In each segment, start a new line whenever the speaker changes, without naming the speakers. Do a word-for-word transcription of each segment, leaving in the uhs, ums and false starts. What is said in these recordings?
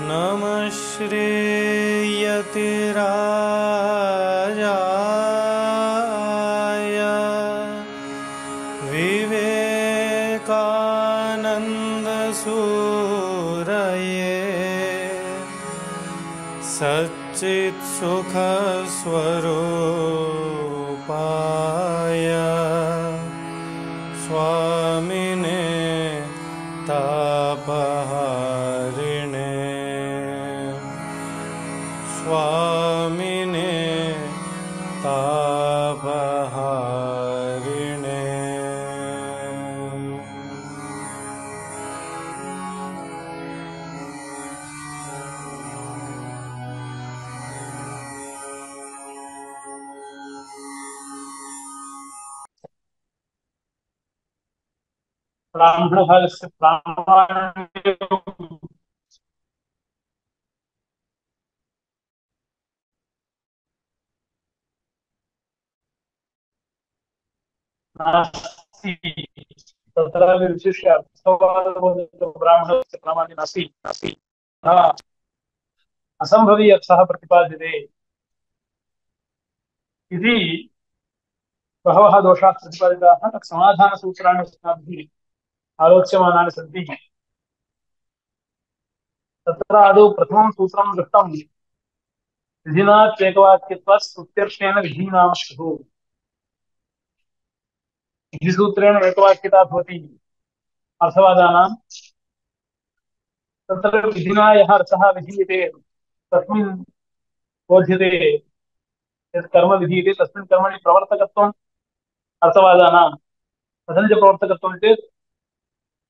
नमः श्रीयतिराजाय विवेकानन्दसूरये सच्चित्सुखस्वरूपाय स्वामिने तापहारिणे स्वामिने तापहारिणे।
ब्राह्मण भागस्य प्रामाण्यं नास्ति, तत्र विशिष्य अर्थवादो ब्राह्मणस्य प्रामाण्यं नास्ति नास्ति असम्भवी अर्थः प्रतिपाद्यते इति बहवः दोषाः प्रतिपादिताः। तत् समाधानसूत्राणि अस्माभिः आलोच्यमानानि सन्ति। तत्र आदौ प्रथमं सूत्रं दृष्टं विधिना चेकवाक्यत्वात् स्तुत्यर्थेन विधीनां स्युः। विधिसूत्रेण एकवाक्यता भवति अर्थवादानां। तत्र विधिना यः अर्थः विधीयते तस्मिन् बोध्यते यत् कर्म विधीयते तस्मिन् कर्मणि प्रवर्तकत्वम् अर्थवादानां। कथं च प्रवर्तकत्वं चेत्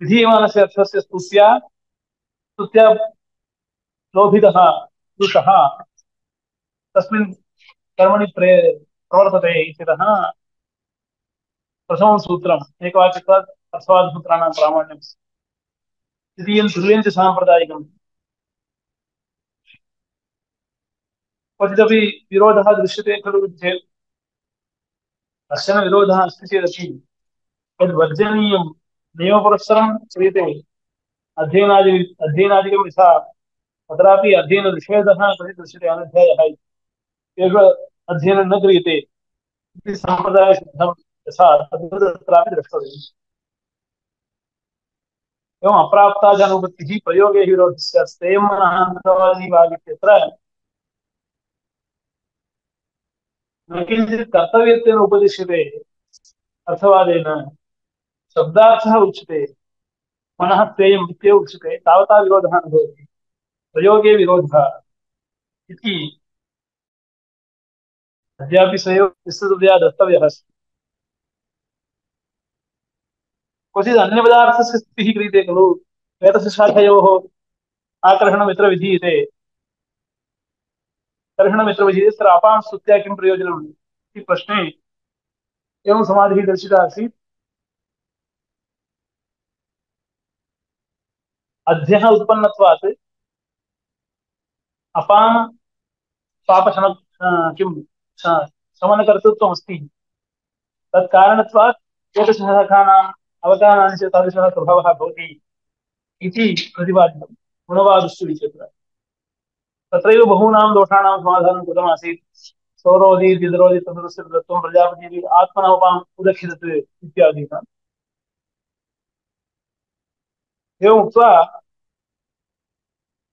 विधीयमानस्य अर्थस्य स्तुत्या स्तुत्या लोभितः पुरुषः तस्मिन् कर्मणि प्रे प्रवर्तते इत्यतः प्रथमं सूत्रम् एकवाक्यत्वात् अर्थवादसूत्राणां प्रामाण्यं। द्वितीयं तुल्यं च साम्प्रदायिकम्। क्वचिदपि विरोधः दृश्यते खलु चेत् कश्चन विरोधः अस्ति चेदपि तद्वर्जनीयं नियमपुरस्सरं क्रियते अध्ययनादि अध्ययनादिकं यथा तत्रापि अध्ययननिषेधः क्वचित् दृश्यते अनध्यायः इति। एष अध्ययनं न क्रियते इति साम्प्रदायसिद्धं यथा तत्रापि द्रष्टव्यम्। एवम् अप्राप्ताजानुवृत्तिः प्रयोगे विरोधस्य स्तेयमनहान्तवादिवादित्यत्र न किञ्चित् कर्तव्यत्वेन उपदिश्यते अर्थवादेन शब्दार्थः उच्यते मनः स्तेयम् इत्येव उच्यते तावता विरोधः न भवति। प्रयोगे विरोधः इति अद्यापि स एव विस्तृततया द्रष्टव्यः अस्ति। क्वचित् अन्यपदार्थस्य स्थितिः क्रियते खलु वेदस्य शाखयोः आकर्षणम् यत्र विधीयते कर्षणम् यत्र विधीयते तत्र अपां स्तुत्या किं प्रयोजनम् इति प्रश्ने एवं समाधिः दर्शिता आसीत्। अध्यः उत्पन्नत्वात् अपां पापशम किं शमनकर्तृत्वमस्ति तत्कारणत्वात् एतशाखानाम् अवकाराणि च तादृशः प्रभावः भवति इति प्रतिपादितं गुणवादस्तु विचित्र। तत्रैव बहूनां दोषाणां समाधानं कृतमासीत्। सौरोधि दिदरोधि तदृश्य तत्त्वं प्रजापति आत्मनोपाम् उदक्षितत् इत्यादीनाम्। एवम् उक्त्वा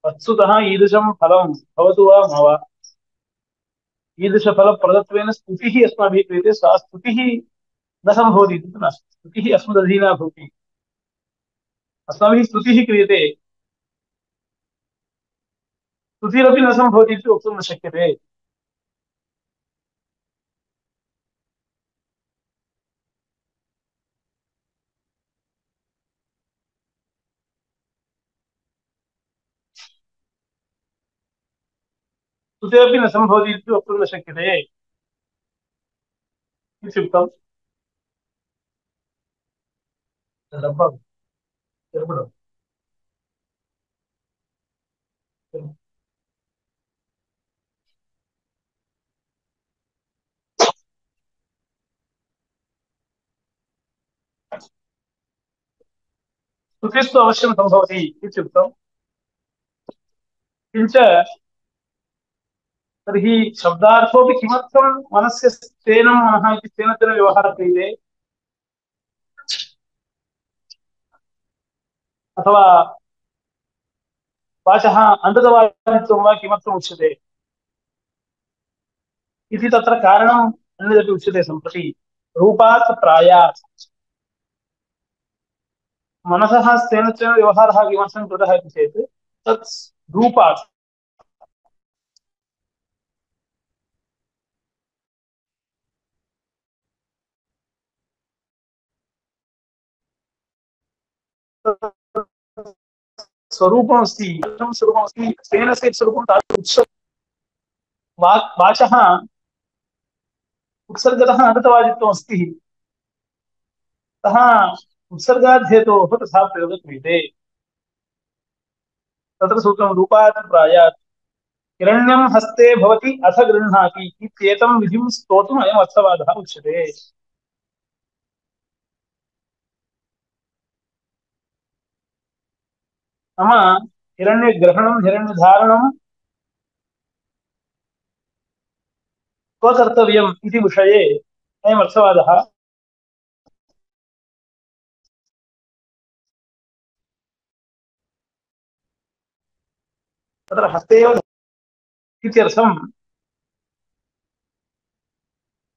वस्तुतः ईदृशं फलं भवतु वा न वा ईदृशफलप्रदत्वेन स्तुतिः अस्माभिः क्रियते। सा स्तुतिः न सम्भवति इति नास्ति। स्तुतिः अस्मदधीना भवति। अस्माभिः स्तुतिः क्रियते स्तुतिरपि न सम्भवति इति वक्तुं न शक्यते। स्तुतिरपि न सम्भवति इति वक्तुं न शक्यते इत्युक्तम्। श्रुतिस्तु अवश्यं सम्भवति इत्युक्तम्। किञ्च तर्हि शब्दार्थोऽपि किमर्थं मनस्य स्तेनं मनः इति स्तेनतेन व्यवहारः क्रियते अथवा वाचः अन्ततवादित्वं वा किमर्थम् उच्यते इति तत्र कारणम् अन्यदपि उच्यते सम्प्रति। रूपात् प्रायात् मनसः स्तेनत्वेन व्यवहारः किमर्थं कृतः इति चेत् तत् रूपात् स्वरूपमस्ति, कथं स्वरूपमस्ति, स्तेनस्य स्वरूपं तादृश उत्सर्ग वाक् वाचः उत्सर्गतः अनन्तवादित्वमस्ति, अतः उत्सर्गाध्येतोः तथा प्रयोगः क्रियते। तत्र सूत्रं रूपात् प्रायात् हिरण्यं हस्ते भवति अथ गृह्णाति इत्येतं विधिं स्तोतुम् अयम् अर्थवादः उच्यते। नाम हिरण्यग्रहणं हिरण्यधारणं क्व कर्तव्यम् इति विषये अयम् अर्थवादः तत्र हस्ते एव इत्यर्थं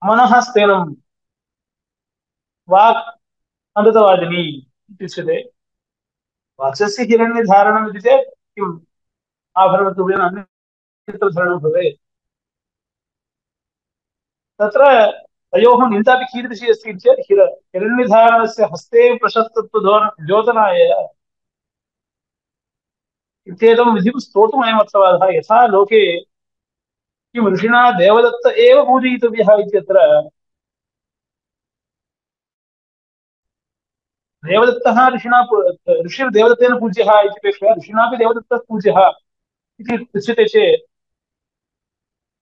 मनः स्तेनं वाक् अमृतवादिनी इत्युच्यते। वाचस्य हिरण्यधारणम् इति चेत् किम् आभरणत्वेन अन्यत्र धरणं भवेत्। तत्र तयोः निन्दापि कीदृशी अस्ति इति चेत् हिर हिरण्यधारणस्य हस्ते प्रशस्तत्वं द्योतनाय इत्येतं विधिं स्तोतुम् अयम् अर्थवादः। यथा लोके किं ऋषिणा देवदत्त एव पूजयितव्यः इत्यत्र देवदत्तः ऋषिणा ऋषिर्देवदत्तेन पूज्यः इत्यपेक्षया ऋषिणापि देवदत्तः पूज्यः इति उच्यते चेत्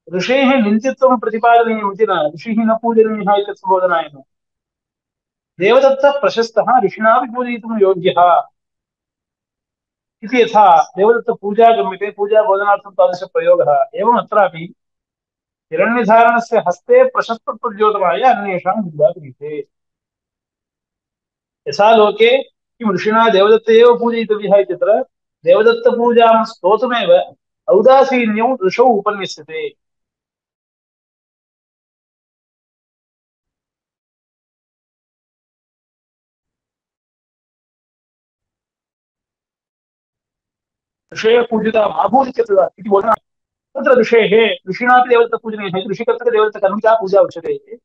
ऋषेः निन्दित्वं प्रतिपादनीयम् इति न, ऋषिः न पूजनीयः इति सम्बोधनाय न। देवदत्तः प्रशस्तः ऋषिणापि पूजयितुं योग्यः इति यथा देवदत्तपूजा गम्यते, पूजा बोधनार्थं तादृशप्रयोगः एवम् अत्रापि हिरण्यधारणस्य हस्ते प्रशस्तत्वद्योतनाय अन्येषां निन्दा क्रियते। यथा लोके किं ऋषिणा देवदत्त एव पूजयितव्यः इत्यत्र देवदत्तपूजां स्तोतुमेव औदासीन्यं ऋषौ उपन्यस्यते। ऋषयः पूजिता मा भूरित्यत्र इति बोधना तत्र ऋषेः ऋषिणापि देवदत्तपूजनीयः इति ऋषिकर्तृकदेवदत्तकर्मिका पूजा उच्यते।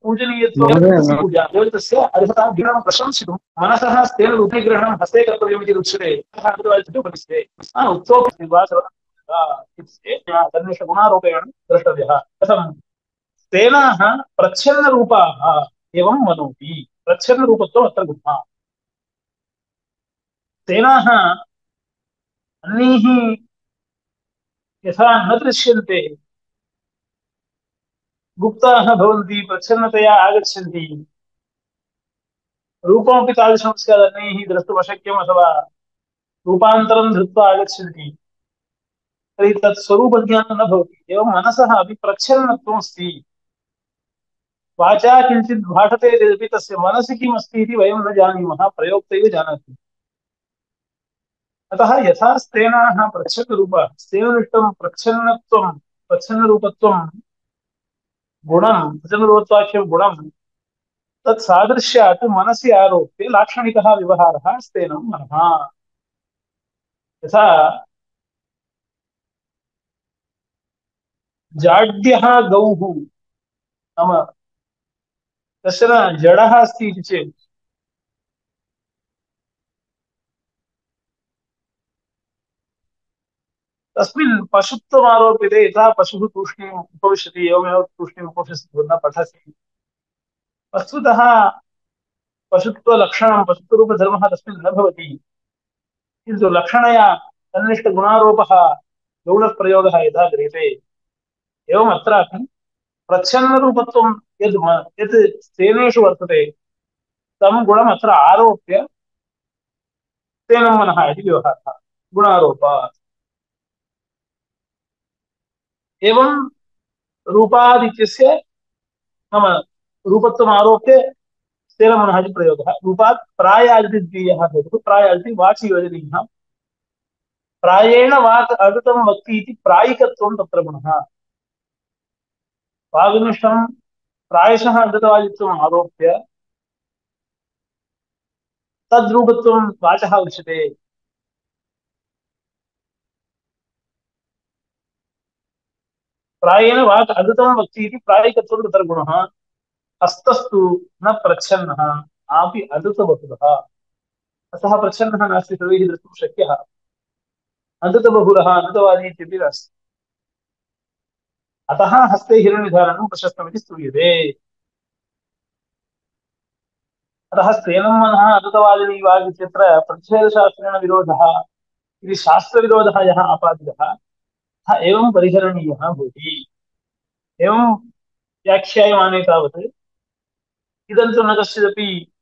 पूजनीयत्वं पूजा देवदत्तस्य अर्हतां गुणं प्रशंसितुं मनसः स्तेन रूपीग्रहणं हस्ते कर्तव्यमिति उच्यते। उपनिषदे उक्तोऽपि गुणारोपेण द्रष्टव्यः। कथं स्तेनाः प्रच्छन्नरूपाः एवं मनोति, प्रच्छन्नरूपत्वम् अत्र गुणः। स्तेनाः अन्यैः यथा न दृश्यन्ते, गुप्ताः भवन्ति, प्रच्छन्नतया आगच्छन्ति, रूपमपि तादृशं स्यात् अन्यैः द्रष्टुम् अशक्यम् अथवा रूपान्तरं धृत्वा आगच्छन्ति, तर्हि तत् स्वरूपज्ञानं न भवति। एवं मनसः अपि प्रच्छन्नत्वमस्ति। वाचा किञ्चित् भाषते चेदपि तस्य मनसि किम् अस्ति इति वयं न जानीमः, प्रयोक्त एव जानाति। अतः यथा स्तेनाः प्रच्छन्नरूपाः, स्तेननिष्ठं प्रच्छन्नत्वं प्रच्छन्नरूपत्वं गुणं प्रच्छन्नरूपत्वाख्यं गुणं तत्सादृश्यात् मनसि आरोप्य लाक्षणिकः व्यवहारः स्तेनं मनः। यथा जाड्यः गौः नाम कश्चन जडः अस्ति इति चेत् तस्मिन् पशुत्वम् आरोप्यते। यथा पशुः तूष्णीम् उपविशति एवमेव तूष्णीम् उपविशति न पठति। वस्तुतः पशुत्वलक्षणं पशुत्वरूपधर्मः तस्मिन् न भवति, किन्तु लक्षणया तन्निष्ठगुणारोपः गौणप्रयोगः यथा क्रियते एवम् अत्रापि प्रच्छन्नरूपत्वं यद् म- यत् स्तेनेषु वर्तते तं गुणम् अत्र आरोप्य तेन मनः इति व्यवहारः गुणारोपात्। एवं रूपादित्यस्य नाम रूपत्वम् आरोप्य तेन मनः इति प्रयोगः। रूपात् प्रायादिति द्वितीयः हेतुः। प्रायादिति वाचि योजनीयः। प्रायेण वाक् अगतं वक्ति इति प्रायिकत्वं तत्र गुणः। वागनिष्ठं प्रायशः अगतवादित्वम् आरोप्य तद्रूपत्वं वाचः उच्यते। प्रायेण वाक् अगतं वक्ति इति प्रायिकत्वं तत्र गुणः। हस्तस्तु न प्रच्छन्नः आपि अदृतबहुलः। अतः प्रच्छन्नः नास्ति सर्वैः द्रष्टुं शक्यः। अदृतबहुलः अदृतवादी इत्यपि नास्ति। अतः हस्ते हिरण्यधारणं प्रशस्तमिति स्तूयते। अतः स्तेनं मनः अदृतवादिनी वाग् इत्यत्र प्रतिषेधशास्त्रेण विरोधः इति शास्त्रविरोधः यः आपादितः सः एवं परिहरणीयः भवति। एवं व्याख्यायमाने तावत् इदं तु न कश्चिदपि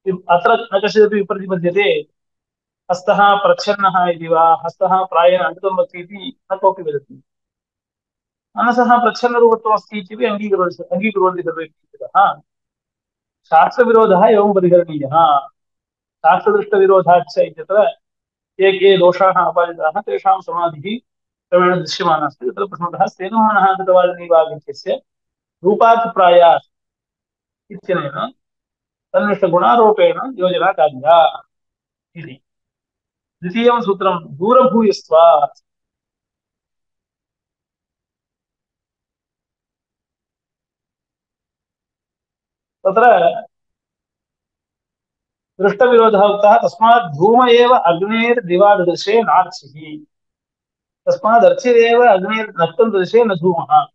अत्र न कश्चिदपि विप्रतिपद्यते हस्तः प्रच्छन्नः इति वा हस्तः प्रायेण अमृतं वक्ति इति न कोऽपि वदति। मनसः प्रच्छन्नरूपत्वमस्ति इत्यपि अङ्गीकुर्वन्ति अङ्गीकुर्वन्ति सर्वे इत्यतः शास्त्रविरोधः एवं परिहरणीयः। शास्त्रदृष्टविरोधाच्च इत्यत्र ये के दोषाः आपादिताः तेषां समाधिः क्रमेण दृश्यमाना अस्ति। तत्र प्रथमतः स्तेनं मनः कृतवादिनी वाक्यस्य रूपात् प्रायात् इत्यनेन तन्निष्ठगुणारोपेण योजना कार्या इति। द्वितीयं सूत्रं दूरभूयस्त्वात्। तत्र दृष्टविरोधः उक्तः। तस्मात् धूम एव अग्नेर्दिवादृशे नार्चिः। तस्मात् अर्चिरेव अग्नेर्नक्तं दृशे न धूमः।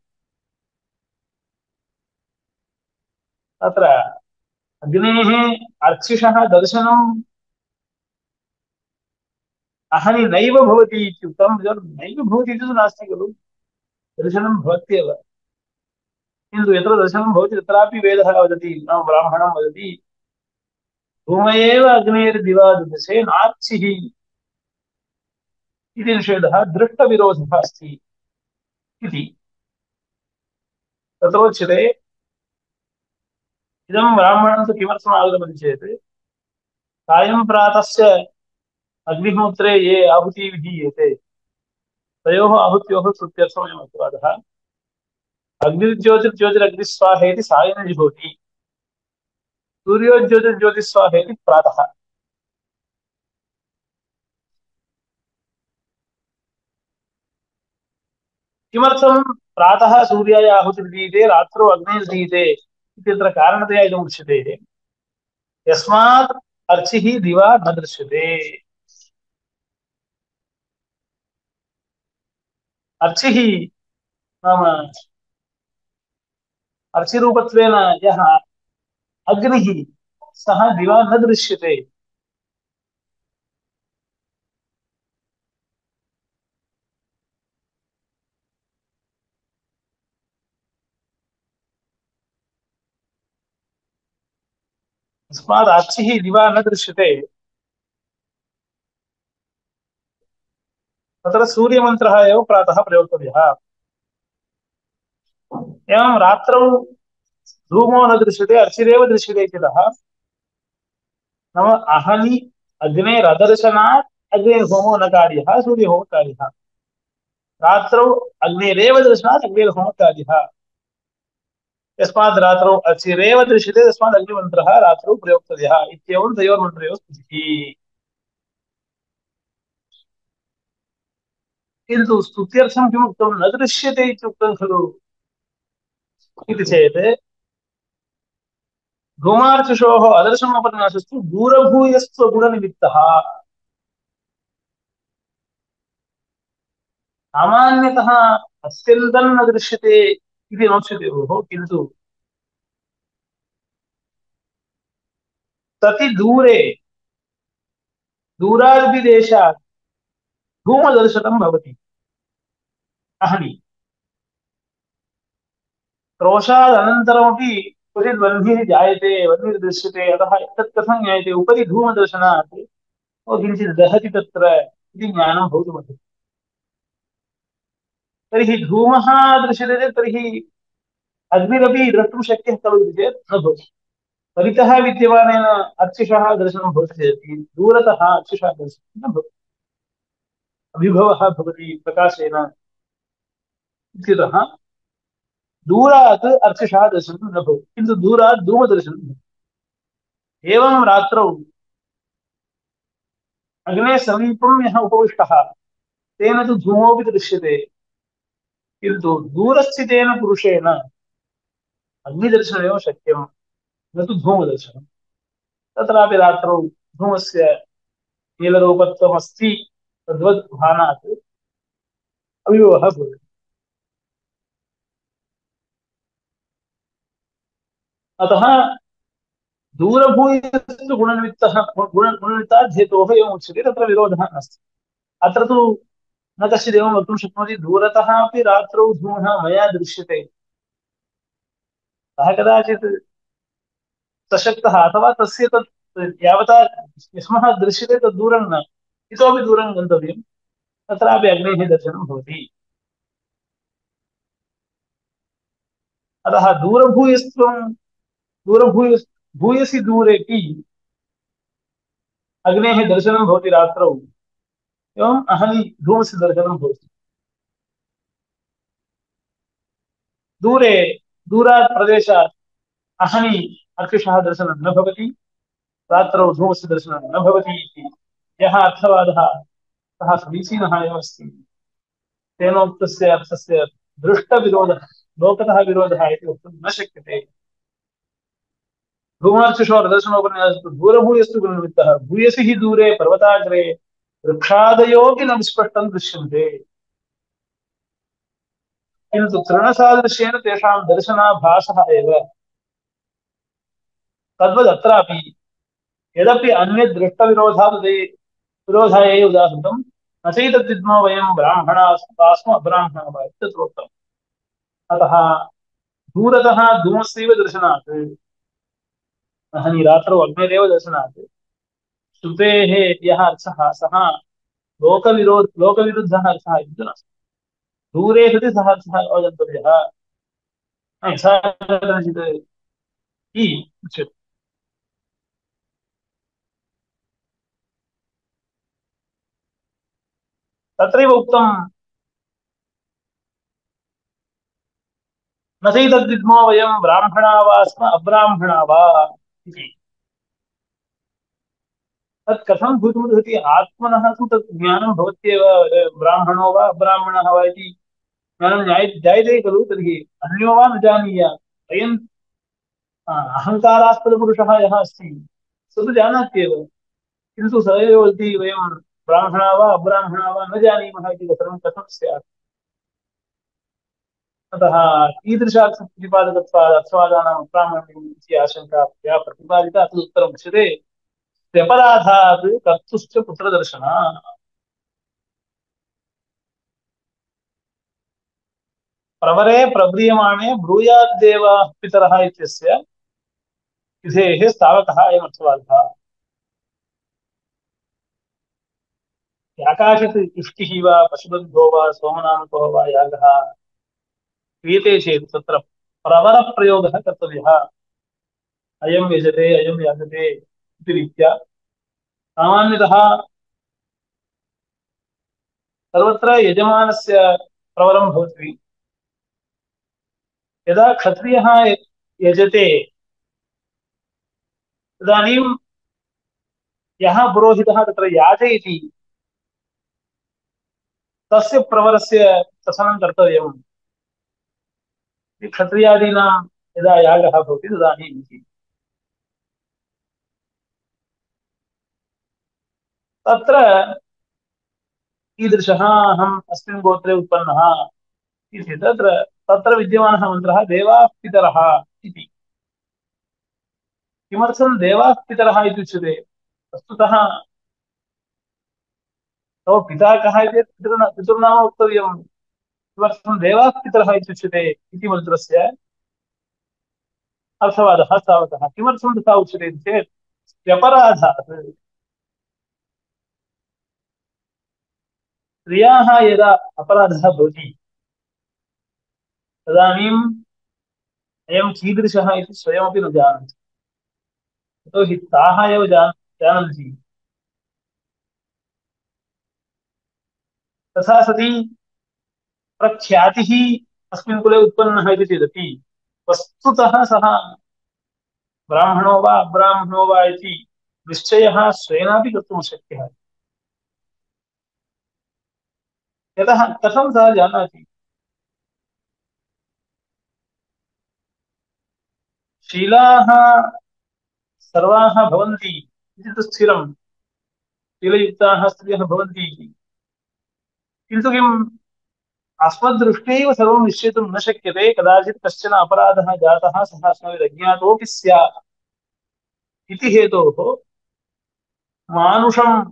तत्र अग्नेः अर्चिषः दर्शनम् अहनि नैव भवति इत्युक्तं। नैव भवति इति तु नास्ति खलु, दर्शनं भवत्येव। किन्तु यत्र दर्शनं भवति तत्रापि वेदः वदति नाम ब्राह्मणं वदति धूम एव अग्नेर्दिवादृशे नार्चिः इति निषेधः दृष्टविरोधः अस्ति इति। तत्रोच्यते इदं ब्राह्मणं तु किमर्थम् आगतमिति चेत् सायं प्रातस्य अग्निहोत्रे ये आहुतिः विधीयेते तयोः आहुत्योः स्तुत्यर्थमयम् अपवादः। अग्निर्ज्योतिर्ज्योतिरग्निस्वाहेति सायं जुहोति, सूर्योज्योतिर्ज्योतिस्वाहेति प्रातः। किमर्थं प्रातः सूर्याय आहुतिर्दीयते रात्रौ अग्निर्दीयते इत्यत्र कारणतया इदम् उच्यते। यस्मात् अर्चिः दिवा न दृश्यते। अर्चिः नाम अर्चिरूपत्वेन यः अग्निः सः दिवा न दृश्यते। तस्मात् अर्चिः दिवा न दृश्यते। तत्र सूर्यमन्त्रः एव प्रातः प्रयोक्तव्यः। एवं रात्रौ धूमो न दृश्यते अर्चिरेव दृश्यते इत्यतः नाम अहनि अग्नेरदर्शनात् अग्निर्होमो न कार्यः सूर्यहोमः कार्यः। रात्रौ अग्निरेव दर्शनात् अग्निर्होमः कार्यः। यस्मात् रात्रौ अर्चिरेव दृश्यते तस्मात् अग्निमन्त्रः रात्रौ प्रयोक्तव्यः इत्येवं तयोर्मन्त्रयोः स्तुतिः। किन्तु स्तुत्यर्थं किमुक्तं न दृश्यते इत्युक्तं खलु इति चेत् धूमार्चिषोः अदर्शनोपन्यासस्तु दूरभूयस्त्वगुणनिमित्तः। सामान्यतः अत्यन्तं न दृश्यते इति नोच्यते भोः, किन्तु तति दूरे दूरादपि देशात् धूमदर्शनं भवति। अहनि क्रोशादनन्तरमपि क्वचित् वह्निः जायते, वह्निर्दृश्यते, अतः एतत् कथं ज्ञायते उपरि धूमदर्शनात् ओ किञ्चित् दहति तत्र इति ज्ञानं भवितुमर्हति। तर्हि धूमः दृश्यते चेत् तर्हि अग्निरपि द्रष्टुं शक्यः खलु इति चेत् न भवति। परितः विद्यमानेन अर्चिषः दर्शनं भवति चेत् दूरतः अर्चिषः दर्शनं न भवति, अभिभवः भवति प्रकाशेन इत्यतः दूरात् अर्चिषः दर्शनं न भवति, किन्तु दूरात् धूमदर्शनं भवति। एवं रात्रौ अग्ने समीपं यः उपविष्टः तेन तु धूमोऽपि दृश्यते, किन्तु दूरस्थितेन पुरुषेण अग्निदर्शनमेव शक्यं, न तु धूमदर्शनं। तत्रापि रात्रौ धूमस्य नीलरूपत्वमस्ति तद्वद् भानात् अभिभवः भवति। अतः दूरभूयस्तु गुणनिमित्तः गुणनिमित्तात् हेतोः एवम् उच्यते, तत्र विरोधः नास्ति। अत्र तु न कश्चित् एवं वक्तुं शक्नोति दूरतः अपि रात्रौ धूमः मया दृश्यते, सः कदाचित् सशक्तः अथवा तस्य तत् यावता यस्मः दृश्यते तद् दूरं न, इतोपि दूरं गन्तव्यं, तत्रापि अग्नेः दर्शनं भवति। अतः दूरभूयस्त्वं दूरभूय भूयसि दूरेपि अग्नेः दर्शनं भवति रात्रौ, एवम् अहनि धूमस्य दर्शनं भवति। दूरे दूरात् प्रदेशात् अहनि अर्चिषः दर्शनं न भवति, रात्रौ धूमस्य दर्शनं न भवति इति यः अर्थवादः सः समीचीनः एव अस्ति। तेनोक्तस्य अर्थस्य दृष्टविरोधः लोकतः विरोधः इति वक्तुं न शक्यते। धूमार्चिषोर्दर्शनोपन्यासस्तु दूरभूयस्तु गुणनिमित्तः भूयसि हि दूरे पर्वताग्रे वृक्षादयोऽपि न विस्पष्टं दृश्यन्ते, किन्तु तृणसादृश्येन तेषां दर्शनाभासः एव। तद्वदत्रापि यदपि अन्यद् दृष्टविरोधात् विरोधाय उदाहृतं न चैतद्विद्मो वयं ब्राह्मणाः स्म अब्राह्मणाः वा इत्यत्रोक्तम्। अतः दूरतः धूमस्यैव दर्शनात् अहनि रात्रौ अग्निरेव दर्शनात् श्रुतेः यः अर्थः सः लोकविरोध लोकविरुद्धः अर्थः इति नास्ति। दूरे सति सः अर्थः अवगन्तव्यः, यथा कदाचित् इ उच्यते। तत्रैव उक्तं न चैतद्विद्मो वयं ब्राह्मणा वा स्म अब्राह्मणा वा इति। तत् कथं भवितुमर्हति? आत्मनः तु तत् ज्ञानं भवत्येव, ब्राह्मणो वा अब्राह्मणः वा इति ज्ञानं जायते खलु। तर्हि अन्यो वा न जानीयात्, अयम् अहङ्कारास्पदपुरुषः यः अस्ति स तु जानात्येव, किन्तु स एव वदति वयं ब्राह्मणा वा अब्राह्मणा वा न जानीमः इति कथं कथं स्यात्? अतः कीदृशार्थप्रतिपादकत्वात् अर्थवादानां अप्रामाण्यम् इति आशङ्का या प्रतिपादिता तदुत्तरम् उच्यते व्यपराधात् कर्तुश्च पुत्रदर्शनात्। प्रवरे प्रव्रियमाणे ब्रूयाद्देव पितरः इत्यस्य विधेः स्थावकः अयमर्थवादः। याकाशित् इष्टिः वा पशुबन्धो वा सोमनामको वा यागः क्रियते चेत् तत्र प्रवरप्रयोगः कर्तव्यः। अयं यजते अयं याजते इति रीत्या सामान्यतः सर्वत्र यजमानस्य प्रवरं भवति। यदा क्षत्रियः यजते तदानीं यः पुरोहितः तत्र याजयति तस्य प्रवरस्य शसनं कर्तव्यम्। क्षत्रियादीनां यदा यागः भवति तदानीम् इति। तत्र कीदृशः अहम् अस्मिन् गोत्रे उत्पन्नः इति तत्र तत्र विद्यमानः मन्त्रः देवाः पितरः इति। किमर्थं देवाः पितरः इति उच्यते? वस्तुतः तव पिता कः इति पितृना पितृनाम वक्तव्यं। किमर्थं देवाः पितरः इति उच्यते इति मन्त्रस्य अर्थवादः तावतः। किमर्थं तथा उच्यते इति चेत् व्यपराधात् स्त्रियाः यदा अपराधः भवति तदानीम् अयं कीदृशः इति स्वयमपि न जानन्ति। यतोहि ताः एव जान जानन्ति। तथा सति प्रख्यातिः अस्मिन् कुले उत्पन्नः इति चेदपि वस्तुतः सः ब्राह्मणो वा अब्राह्मणो वा इति निश्चयः स्वेनापि कर्तुं शक्यः। यतः कथं सः जानाति? शीलाः सर्वाः भवन्ति इति तु स्थिरं। शीलयुक्ताः स्त्रियः भवन्ति इति। किन्तु किम् अस्मद्दृष्ट्यैव सर्वं निश्चेतुं न शक्यते। कदाचित् कश्चन अपराधः जातः सः अस्माभिरज्ञातोऽपि स्यात् इति हेतोः मानुषं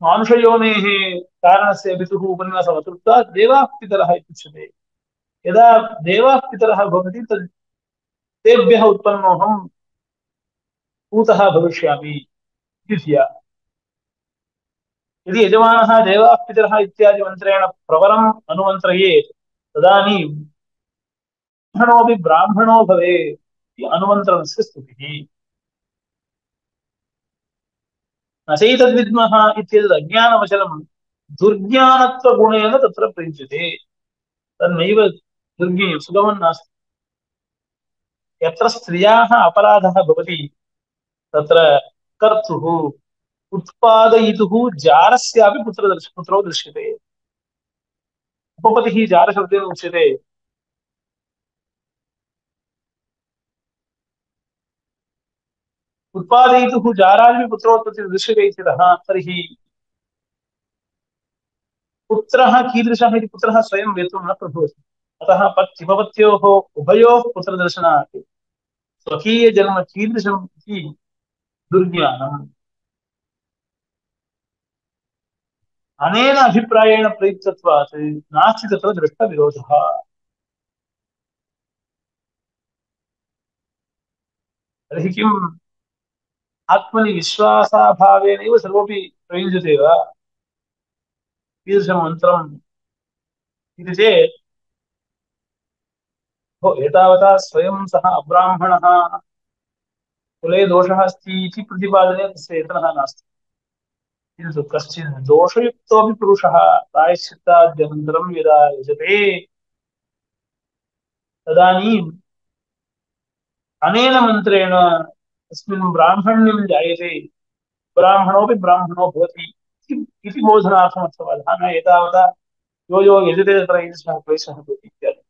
मानुषयोनेः कारणस्य पितुः उपन्यासमकृत्वा देवाः पितरः इत्युच्यते। यदा देवाः पितरः भवन्ति तद् तेभ्यः उत्पन्नोऽहं पूतः भविष्यामि इति धिया। यदि यजमानः देवाः पितरः इत्यादि मन्त्रेण प्रबलम् अनुमन्त्रयेत् तदानीं ब्राह्मणोऽपि ब्राह्मणो भवेत् इति अनुमन्त्रणस्य स्तुतिः। न चैतद्विद्मः इत्येतद् अज्ञानवचनं दुर्ज्ञानत्वगुणेन तत्र प्रयुज्यते। तन्नैव दुर्ज्ञेयं सुगमं नास्ति। यत्र स्त्रियाः अपराधः भवति तत्र कर्तुः उत्पादयितुः जारस्यापि पुत्र दर्श पुत्रो दृश्यते। उपपतिः जारशब्देन उच्यते। उत्पादयितुः जारादपि पुत्रोत्पत्तिः दृश्यते इत्यतः तर्हि पुत्रः कीदृशः इति पुत्रः स्वयं वेतुं न प्रभवति। अतः पत्युपपत्योः उभयोः पुत्रदर्शनात् स्वकीयजन्म कीदृशम् इति दुर्ज्ञानम्। अनेन अभिप्रायेण प्रयुक्तत्वात् नास्ति तत्र दृष्टविरोधः। तर्हि किम् आत्मनि विश्वासाभावेनैव सर्वोऽपि प्रयुज्यते वा कीदृशं मन्त्रम् इति चेत् एतावता स्वयं सः अब्राह्मणः कुले दोषः अस्ति इति प्रतिपादने तस्य यत्नः नास्ति। किन्तु कश्चित् दोषयुक्तोऽपि पुरुषः प्रायश्चित्ताद्यनन्तरं यदा यजते तदानीम् अनेन मन्त्रेण तस्मिन् ब्राह्मण्यं जायते। ब्राह्मणोऽपि ब्राह्मणो भवति इति बोधनार्थम् अर्थवादः। न एतावता यो यो यजते तत्र ईदृशः क्लेशः भवति इत्यादि।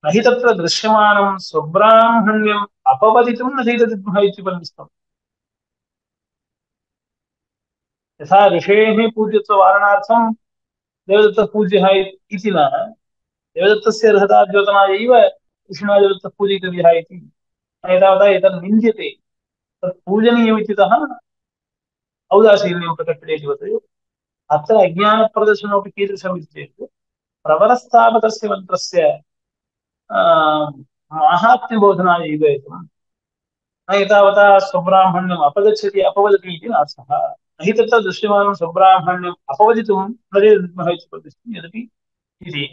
न हि तत्र दृश्यमानं स्वब्राह्मण्यम् अपवदितुं न चैतद्विद्मः इत्युपन्यस्तम्। यथा ऋषेः पूज्यत्ववारणार्थं देवदत्तः पूज्यः इति न देवदत्तस्य अर्हता द्योतनायैव ऋषिणा देवदत्तः पूजयितव्यः इति एतावता एतत् निन्द्यते। तत् पूजनीयमित्यतः औदासीन्यं प्रकटयति। अत्र अज्ञानप्रदर्शनमपि कीदृशम् इति चेत् प्रबलस्थापकस्य मन्त्रस्य माहात्म्यबोधनाय एव न एतावता स्वब्राह्मण्यम् अपगच्छति अपवदति इति नार्थः। न हि तत्र दृश्यमानं स्वब्राह्मण्यम् अपवदितुं न चैतद्विद्मः इति प्रतिष्ठितं यदपि इति।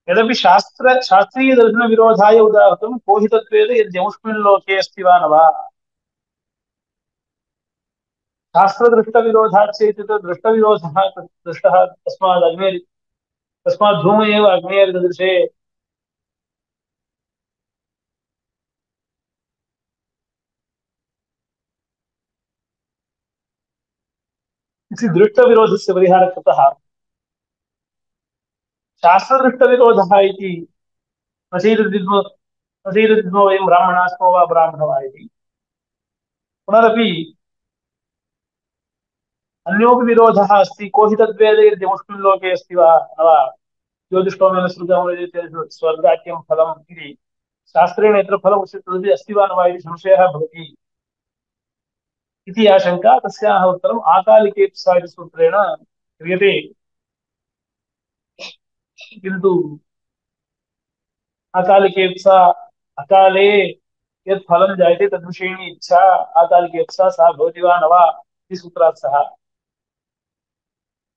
यदपि शास्त्र शास्त्रीयदर्शनविरोधाय उदाहृतं को हि तत्वेद यद्यमुष्मिन् लोके अस्ति वा न वा। शास्त्रदृष्टविरोधात् चेत् दृष्टविरोधः दृष्टः तस्मात् अग्नेर् तस्मात् धूम एव अग्नेर्दृशे इति दृष्टविरोधस्य परिहारः कृतः। शास्त्रदृष्टविरोधः इति न चैतद्विद्मः असीदो वयं ब्राह्मणाः स्मो वा ब्राह्मणः वा इति पुनरपि अन्योपि विरोधः अस्ति को हि तद्वेद यद्य मुस्लिं लोके अस्ति वा न वा ज्योतिष्ठोमेन सृजं स्वर्गाख्यं फलम् इति शास्त्रेण यत्र फलम् उच्यते तदपि अस्ति वा न वा इति संशयः भवति इति आशङ्का तस्याः उत्तरम् आकालिकेप्सा इति सूत्रेण क्रियते किन्तु अकालिकेप्सा अकाले यत् फलं जायते तद्विषयिणी इच्छा आकालिकेप्सा सा भवति वा न वा इति सूत्रात् सः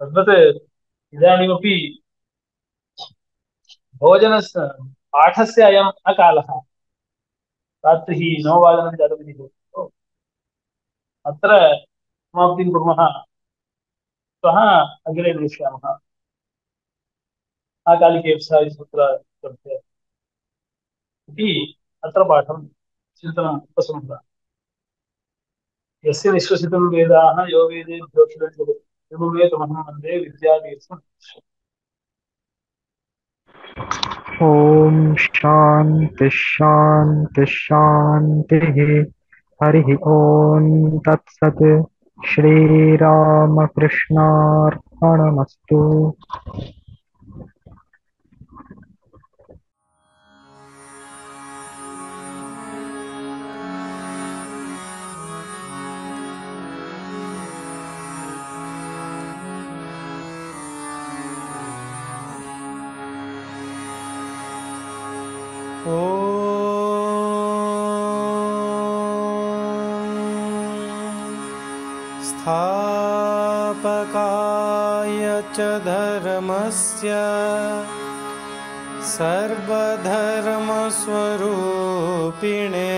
तद्वत् इदानीमपि भोजनस्य पाठस्य अयम् अकालः रात्रिः नववादनं जातमिति भवति अत्र समाप्तिं कुर्मः श्वः अग्रे नेष्यामः आकालिकेप्सा इति सूत्रस्य इति अत्र पाठं चिन्तनम् उपसंहृतम् यस्य निःश्वसितं वेदाः यो वेदेभ्योऽखिलजगत् ऋग्वेदमहं वन्दे विद्यातीर्थम्
ॐ शान्ति शान्ति शान्तिः हरिः ॐ तत्सत् श्रीरामकृष्णार्पणमस्तु।
स्थापकाय च धर्मस्य सर्वधर्मस्वरूपिणे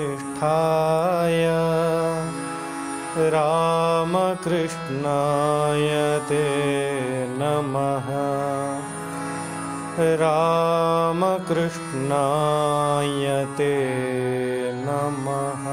अवतारवरिष्ठाय रामकृष्णाय ते नमः। रामकृष्णाय ते नमः।